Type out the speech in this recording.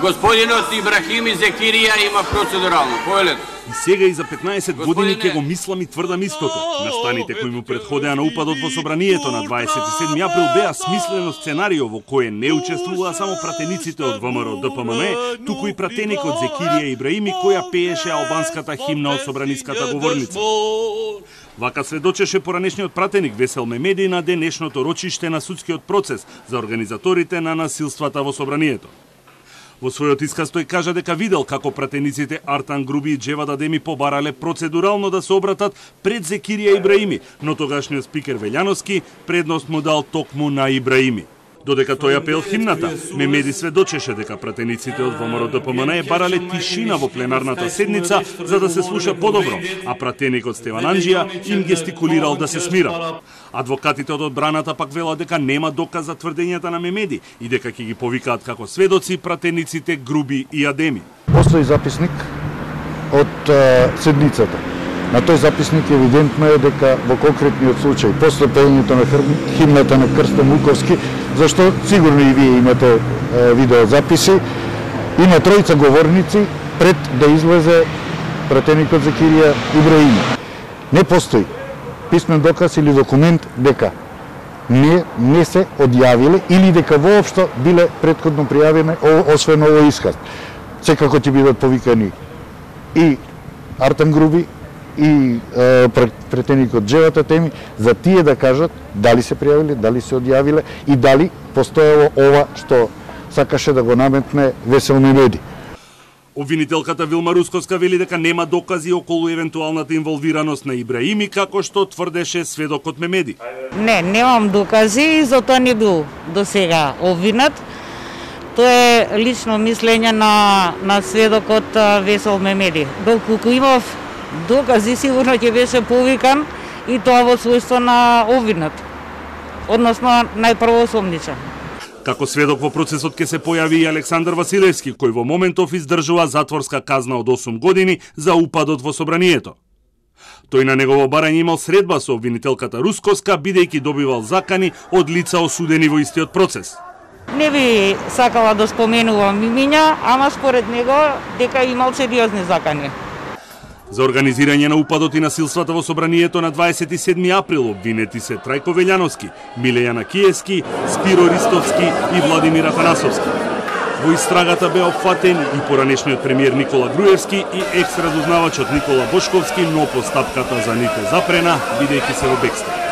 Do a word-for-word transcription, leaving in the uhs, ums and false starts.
Господинот Ибрахим Зекирија има процедурално. Поелет. И сега и за петнаесет години ќе го мислам и тврдам истото. Настаните кои му предходеа на упадот во собранието на дваесет и седми април беа смислено сценарио во кое не учествуваа само пратениците од ВМРО Д П М Н, туку и пратеникот Зекирија Ибраими која пееше албанската химна од собраниската говорница. Вака сведочеше поранешниот пратеник Весел Мемеди на денешното рочиште на судскиот процес за организаторите на насилствата во собранието. Во својот исказ тој кажа дека видел како пратениците Артан Груби и Джевад Адеми побарале процедурално да се обратат пред Зекирија Ибраими, но тогашниот спикер Велјановски предност му дал токму на Ибраими. Додека тој апел химната, Мемеди сведочеше дека пратениците од ВМРО Д П М Н барале тишина во пленарната седница за да се слуша подобро, а пратеникот Стеван Анџија им гестикулирал да се смират. Адвокатите од одбраната пак велат дека нема доказ за тврдењата на Мемеди и дека ќе ги повикаат како сведоци пратениците Груби и Адеми. Постои записник од uh, седницата. На тој записник евидентно е дека во конкретниот случај, после пеењето на химната на Крстен Луковски, зашто сигурно и вие имате е, видеозаписи, има тројца говорници пред да излезе пратеникот Зекирија Ибраими. Не постои писмен доказ или документ дека не, не се одјавиле или дека воопшто биле претходно пријавени, освен овој исказ. Секако ќе бидат повикани и Артем Груби и е, претеникот Джевад Адеми за тие да кажат дали се пријавиле, дали се одјавиле и дали постоело ова што сакаше да го наметне Весел Мемеди. Обвинителката Вилма Русковска вели дека нема докази околу евентуалната инволвираност на Ибраими, како што тврдеше сведокот Мемеди. Не, немам докази и затоа не бил до сега обвинет. Тоа е лично мислење на, на сведокот Весел Мемеди. Доколку имав докази, сигурно ќе беше повикан и тоа во својство на обвинет, односно најпрво осомничен. Како сведок во процесот ќе се појави и Александар Василевски, кој во моментов издржува затворска казна од осум години за упадот во собранието. Тој на негово барање имал средба со обвинителката Русковска, бидејќи добивал закани од лица осудени во истиот процес. Не би сакала да споменувам имиња, ама според него дека имал сериозни закани. За организирање на упадот и насилствата во собранието на дваесет и седми април обвинети се Трајко Велјановски, Милејана Киевски, Спиро Ристовски и Владимир Атанасовски. Во истрагата беа опфатени и поранешниот премиер Никола Груевски и екс-разузнавачот Никола Бошковски, но постапката за нив е запрена, бидејќи се во бегство.